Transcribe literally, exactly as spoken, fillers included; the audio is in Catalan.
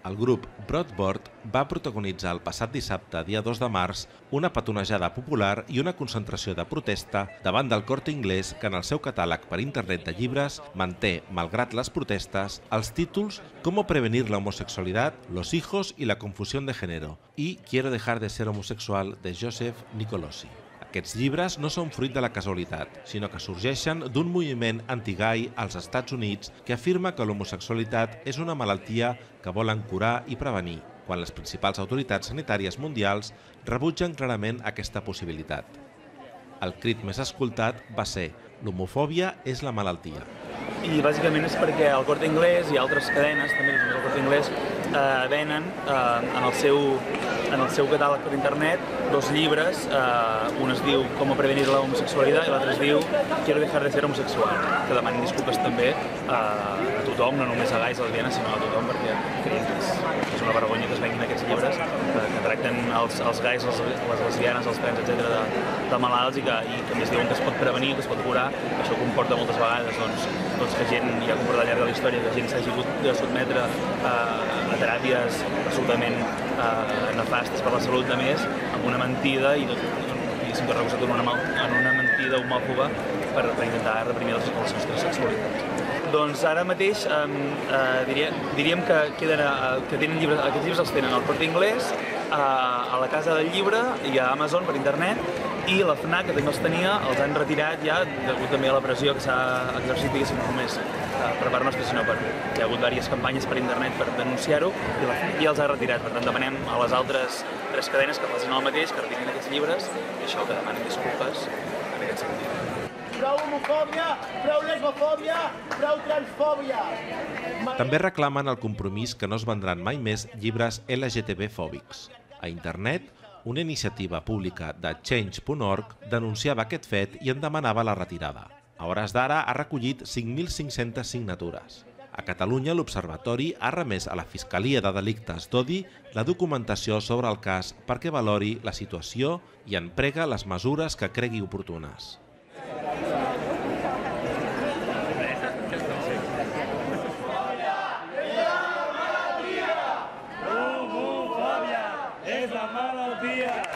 El grup Broadboard va protagonitzar el passat dissabte, dia dos de març, una petonejada popular i una concentració de protesta davant del Corte Inglés que en el seu catàleg per internet de llibres manté, malgrat les protestes, els títols «Cómo prevenir la homosexualidad, los hijos y la confusión de género» i «Quiero dejar de ser homosexual» de Joseph Nicolosi. Aquests llibres no són fruit de la casualitat, sinó que sorgeixen d'un moviment anti-gai als Estats Units que afirma que l'homosexualitat és una malaltia que volen curar i prevenir, quan les principals autoritats sanitàries mundials rebutgen clarament aquesta possibilitat. El crit més escoltat va ser «L'homofòbia és la malaltia». I bàsicament és perquè el Corte Inglés i altres cadenes, també el Corte Inglés, eh, venen eh, en, el seu, en el seu catàleg per internet dos llibres, eh, un es diu «Cómo prevenir la homosexualidad» i l'altre es diu «Quiero dejar de ser homosexual», que demanen disculpes també eh, a tothom, no només a gais, a lesbianes, sinó a tothom, perquè creiem que és, que és una vergonya que es venguin aquests llibres eh, que tracten els, els gais, les, les lesbianes, els trans, etcètera, de, de malalts i que, i que més diuen que es pot prevenir, que es pot curar. Això comporta moltes vegades doncs, doncs que gent, ja comporta al llarg de la història, que gent s'hagi hagut de sotmetre eh, a teràpies absolutament eh, nefastes per la salut de més, amb una mentida i diguéssim que recolzat en una, en una mentida homòfoba per, per intentar reprimir les, les nostres sexualitats. Doncs ara mateix eh, eh, diria, diríem que, queden, eh, que tenen llibres, aquests llibres els tenen al Corte Inglés, eh, a la Casa del Llibre i a Amazon per internet, i la FNAC, que també els tenia, els han retirat ja, degut també a la pressió que s'ha exercit, diguéssim, no només eh, per part nostra, sinó per... Hi ha hagut diverses campanyes per internet per denunciar-ho, i la FNAC ja els ha retirat. Per tant, demanem a les altres tres cadenes que facin el mateix, que retirin aquests llibres, i això, que demanen disculpes en aquest sentit. Prou homofòbia, prou lesbofòbia, prou transfòbia. També reclamen el compromís que no es vendran mai més llibres L G T B fòbics. A internet, una iniciativa pública de Change punt org denunciava aquest fet i en demanava la retirada. A hores d'ara ha recollit cinc mil cinc-centes signatures. A Catalunya, l'Observatori ha remès a la Fiscalia de Delictes d'Odi la documentació sobre el cas perquè valori la situació i en prega les mesures que cregui oportunes. ¡Es la malaltía!